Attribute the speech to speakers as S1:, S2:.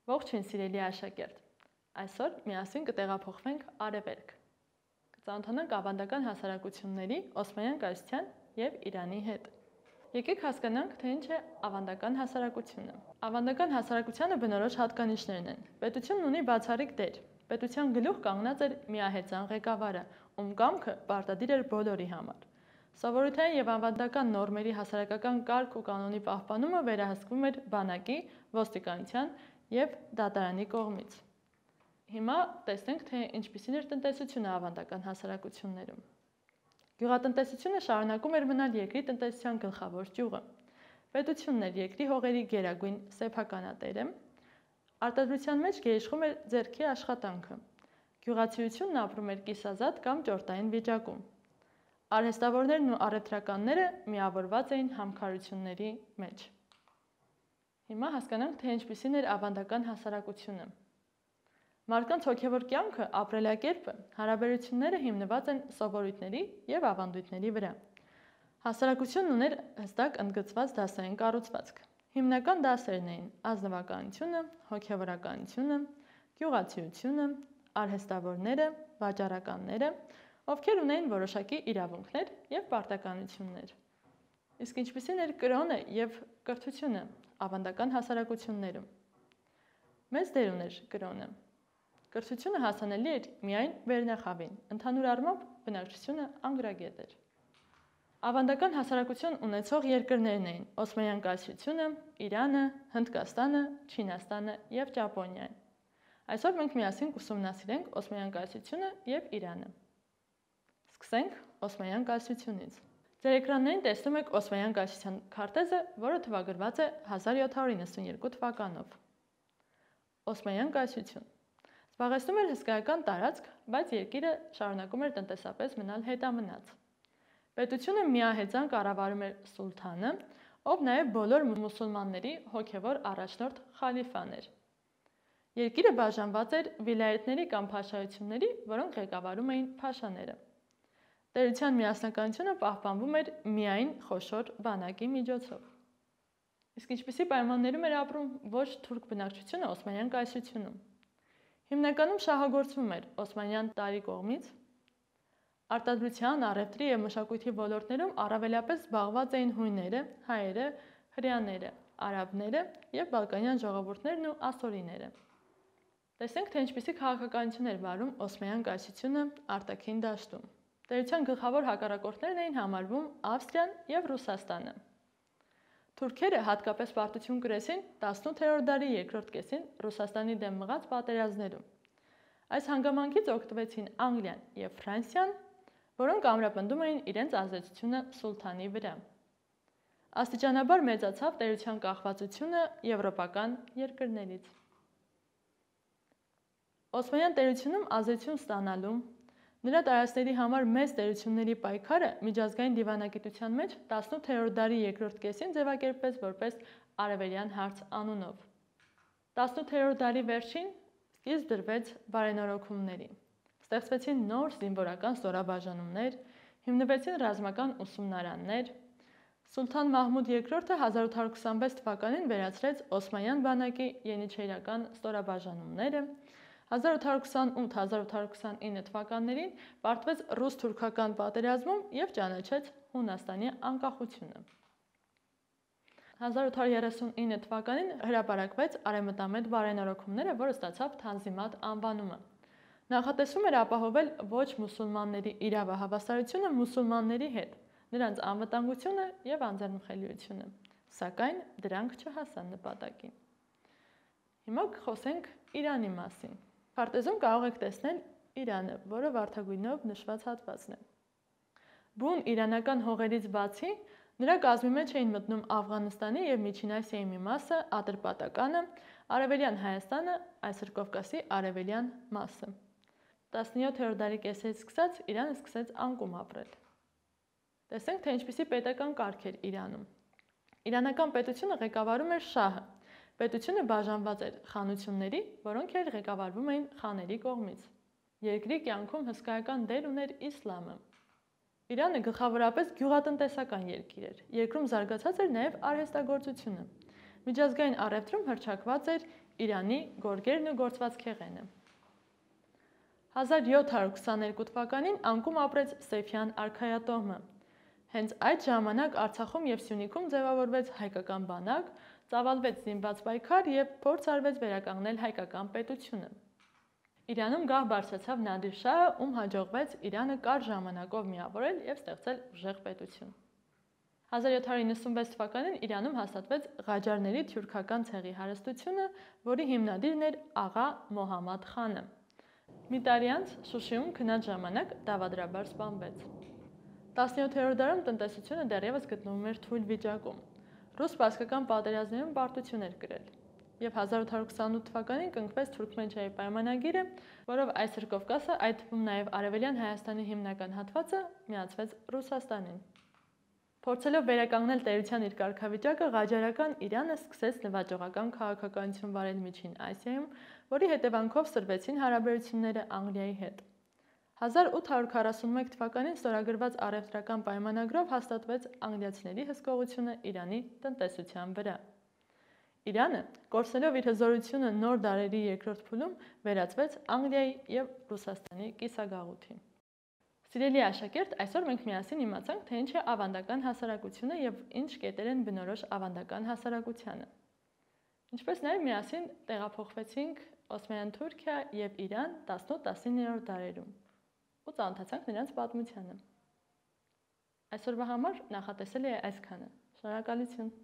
S1: Ողջույն սիրելի աշակերտ, այսօր միասին կտեղափոխվենք արևելք, կծանոթանանք ավանդական հասարակությունների, Օսմանյան կայսրության և Իրանի հետ։ Եկեք հասկանանք, թե ինչ է ավանդական հասարակությունը։ Ավանդական հասարակությանը բնորոշ հատկանիշներն են։ Պետությունն ունի բացառիկ դեր։ Պետության գլուխ կանգնած էր միահեծան ղեկավարը, ում կամքը պարտադիր էր բոլորի համար։ Սովորութային և ավանդական նորմերի հասարակական կարգ ու կանոնի պահպանումը վերահսկվում էր բանակի, ոստիկանության և դատարանի կողմից։ Հիմա տեսնենք, թե ինչպիսին էր տնտեսությունը ավանդական հասարակություններում։ Գյուղատնտեսությունը շարունակում էր մնալ երկրի տնտեսության գլխավոր ճյուղը։ Պետությունն էր երկրի հողերի գերագույն սեփականատերը, արտադրության մեջ գերիշխում էր ձեռքի աշխատանքը։ Գյուղացիությունն ապրում էր կիսազատ կամ ճորտային վիճակում։ Արհեստավորներն ու առևտրականները միավորված էին համքարությունների մեջ։ Հիմա հասկանանք, թե ինչպիսին էր ավանդական հասարակությունը։ Մարդկանց հոգևոր կյանքը, ապրելակերպը, հարաբերությունները հիմնված են սովորույթների և ավանդույթների վրա։ Հասարակությունն ուներ հստակ ընդգծված դասային կառուցվածք։ Հիմնական դասերն էին ազնվականությունը, հոգևորականությունը, գյուղացիությունը, արհեստավորները, վաճառականները, ովքեր ունեին որոշակի իրավունքներ և պարտականություններ։ Իսկ ինչպիսին էր կրոնը և կրթությունը ավանդական հասարակություններում։ Մեծ դեր ուներ կրոնը։ Կրթությունը հասանելի էր միայն վերնախավին, ընդհանուր առմամբ բնակչությունը անգրագետ էր։ Ավանդական հասարակություն ունեցող երկրներն էին Օսմանյան կայսրությունը, Իրանը, Հնդկաստանը, Չինաստանը և Ճապոնիան։ Այսօր մենք միասին կուսումնասիրենք Օսմանյան կայսրությունը և Իրանը։ Սկսենք Օսմանյան կայսրությունից։ Ձեր էկրաններին տեսնում եք Օսմանյան կայսրության քարտեզը, որը թվագրված է 1792 թվականով։ Օսմանյան կայսրություն զբաղեցնում էր հսկայական տարածք, բայց երկիրը շարունակում էր տնտեսապես մնալ հետամնաց։ Պետությունը միահեծան կառավարում էր սուլթանը, ով նաև բոլոր մուսուլմանների հոգևոր առաջնորդ խալիֆան էր։ Երկիրը բաժանված էր վիլայեթների կամ փաշայությունների, որոնք ղեկավարում էին փաշաները։ Տերության միասնականությունը պահպանվում էր միայն խոշոր բանակի միջոցով։ Իսկ ինչպիսի պայմաններում էր ապրում ոչ թուրք բնակչությունը Օսմանյան կայսրությունում։ Հիմնականում շահագործվում էր Օսմանյան տարի կողմից։ Արտադրության, առևտրի և մշակույթի ոլորտներում առավելապես զբաղված էին հույները, հայերը, հրեաները, արաբները և բալկանյան ժողովուրդներն ու ասորիները։ Տեսենք, թե ինչպիսի քաղաքականություն էր վարում Օսմանյան կայսրությունը արտաքին դաշտում։ Տերության գլխավոր հակառակորդներն էին համարվում Ավստրիան և Ռուսաստանը։ Թուրքերը հատկապես պարտություն կրեցին 18-րդ դարի երկրորդ կեսին Ռուսաստանի դեմ մղած պատերազմներում։ Այս հանգամանքից օգտվեցին Անգլիան և Ֆրանսիան, որոնք ամրապնդում էին իրենց ազդեցությունը սուլթանի վրա։ Աստիճանաբար մեծացավ տերության կախվածությունը եվրոպական երկրներից։ Օսմանյան տերությունում ազդեցություն ստանալու, նրա տարածքների համար մեծ տերությունների պայքարը միջազգային դիվանագիտության մեջ 18-րդ դարի երկրորդ կեսին ձևակերպվեց որպես Արևելյան հարց անունով։ 18-րդ դարի վերջին սկիզբ դրվեց բարենորոգումների։ Ստեղծվեցին նոր զինվորական ստորաբաժանումներ, հիմնվեցին ռազմական ուսումնարաններ։ Սուլթան Մահմուդ II-ը 1826 թվականին վերացրեց Օսմանյան բանակի ենիչերական ստորաբաժանումները։ 1828-1829 թվականներին պարտվեց ռուս-թուրքական պատերազմում և ճանաչեց Հունաստանի անկախությունը։ 1839 թվականին հրապարակվեց արևմտամետ բարենորոգումները, որը ստացավ Թանզիմատ անվանումը։ Նախատեսվում էր ապահովել ոչ մուսուլմանների իրավահավասարությունը մուսուլմանների հետ, նրանց անվտանգությունը և անձեռնմխելիությունը, սակայն դրանք չհասան նպատակին։ Հիմա կխոսենք Իրանի մասին։ Քարտեզում կարող եք տեսնել Իրանը, որը վարդագույնով նշված հատվածն է։ Բուն իրանական հողերից բացի, նրա կազմի մեջ էին մտնում Աֆղանստանի և Միջին Ասիայի մի մասը, Ատրպատականը, Արևելյան Հայաստանը, այսօր Կովկասի արևելյան մասը։ 17-րդ դարի կեսերից սկսած Իրանը սկսեց անկում ապրել։ Տեսենք, թե ինչպիսի պետական կարգ էր Իրանում։ Իրանական պետությունը ղեկավարում էր շահը։ Պետությունը բաժանված էր խանությունների, որոնք էլ ղեկավարվում էին խաների կողմից։ Երկրի կյանքում հսկայական դեր ուներ իսլամը։ Իրանը գլխավորապես գյուղատնտեսական երկիր էր։ Երկրում զարգացած էր նաև արհեստագործությունը։ Միջազգային առևտրում հռչակված էր Իրանի գորգերն ու գործվածքեղենը։ 1722 թվականին անկում ապրեց Սեյֆյան արքայատոհմը։ Հենց այդ ժամանակ Արցախում եւ Սյունիքում ձևավորվեց հայկական բանակ, ծավալվեց զինված պայքար եւ փորձ արվեց վերականգնել հայկական պետությունը։ Իրանում գահ բարձրացավ Նադիր Շահը, ում հաջողվեց Իրանը կարճ ժամանակով միավորել եւ ստեղծել ուժեղ պետություն։ 1796 թվականին Իրանում հաստատվեց Ղաջարների թյուրքական ցեղի հարստությունը, որի հիմնադիրն էր աղա Մոհամմադ խանը։ Մի տարի անց Շուշիում քնած ժամանակ դավադրաբար սպանվեց։ 17-րդ դարում տնտեսությունը դեռևս գտնվում էր թույլ վիճակում։ Ռուս-սպարսկական պատերազմներում պարտություն էր կրել, եւ 1828 թվականին կնքվեց Թուրքմենչայի պայմանագիրը, որով այսօր Կովկասը, այդ թվում նաեւ Արևելյան Հայաստանի հիմնական հատվածը, միացվեց Ռուսաստանին։ Փորձելով վերականգնել տերության իր կարգավիճակը, ղաջարական Իրանը սկսեց նվաճողական քաղաքականություն վարել Միջին Ասիայում, որի հետևանքով սրվեցին հարաբերությունները Անգլիայի հետ։ 1841 թվականին ստորագրված առևտրական պայմանագրով հաստատվեց անգլիացիների հսկողությունը Իրանի տնտեսության վրա։ Իրանը, կորցնելով իր հզորությունը նոր դարերի երկրորդ փուլում, վերածվեց Անգլիայի եւ Ռուսաստանի կիսագաղութի։ Սիրելի աշակերտ, այսօր մենք միասին իմացանք, թե ինչ է ավանդական հասարակությունը եւ ինչ կետեր են բնորոշ ավանդական հասարակությանը։ Ինչպես նաեւ միասին տեղափոխվեցինք Օսմանյան Թուրքիա եւ Իրան 18-19-րդ դարերում ու ծանոթացանք նրանց պատմությանը։ Այսօրվա համար նախատեսել է այսքանը։ Շնորհակալություն։